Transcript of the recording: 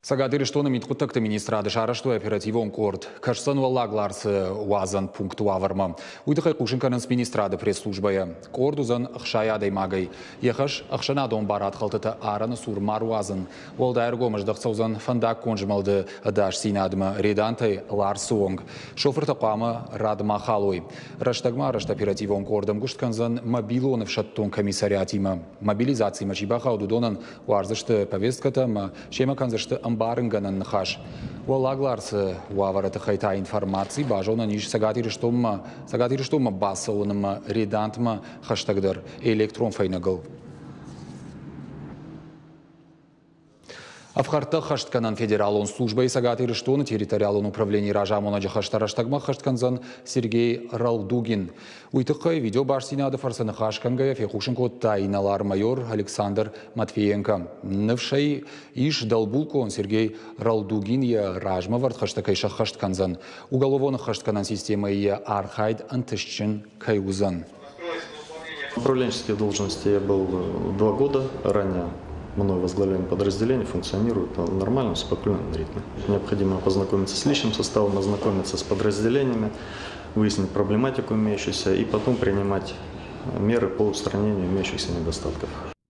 Цӕгат Ирыстоны мидхъуыддӕгты министрады сарӕзтой оперативон къорд. Кӕсдзӕн Уӕллаг Ларсы уадзӕн пункты уавӕрмӕ. Уый тыххӕй хъусын кӕнынц министрады пресс-службӕйӕ. Къорд уыдзӕн 60 адӕймагӕй. Йӕ хӕс ӕхсӕнадон барадхӕлтытӕ арӕны цур ма руадзын. Уӕлдай ӕргом ӕздӕхт цӕудзӕн фӕндаггон змӕлды ӕдасдзинадмӕ Редантӕй Ларсы онг. Шофыртӕ хъуамӕ рад ма халой. Рӕстӕгмӕ арӕзт оперативон къорд ӕмгуыст кӕндзӕн мобилон ӕфсӕддон комиссариатимӕ. Мобилизацимӕ чи бахауд, уыдонӕн уардзысты повесткӕтӕ ӕмӕ семӕ кӕндзысты ӕмбарынгӕнӕн ныхас. Уӕллаг Ларсы уавӕры тыххӕй та информаци базонӕн ис Цӕгат Ирыстонмӕ Цӕгат Ирыстонмӕ бацӕуынмӕ Редантмӕ хӕстӕгдӕр электрон фӕйнӕгыл. Ӕфхӕрдтӕ ӕххӕстгӕнӕн федералон службӕйы Цӕгат Ирыстоны территориалон управленийы разамонӕджы хӕстӕ рӕстӕгмӕ ӕххӕст кӕндзӕн Сергей Ралдугин. Уый тыххӕй видеобастдзинады фӕрцы ныхас кӕнгӕйӕ фехъусын кодта инӕлар-майор Александр Матвиенко. Ныфс ӕй ис, дӕлбулкъон Сергей Ралдугин йӕ размӕвӕрд хӕстӕ кӕй сӕххӕст кӕндзӕн, уголовон ӕххӕстгӕнӕн системӕйы йӕ архайд ӕнтыстджын кӕй уыдзӕн. В управленческой должности я был 2 года. Ранее мной возглавляемое подразделение функционирует в нормальном, спокойном ритме. Необходимо познакомиться с личным составом, ознакомиться с подразделениями, выяснить проблематику имеющуюся и потом принимать меры по устранению имеющихся недостатков.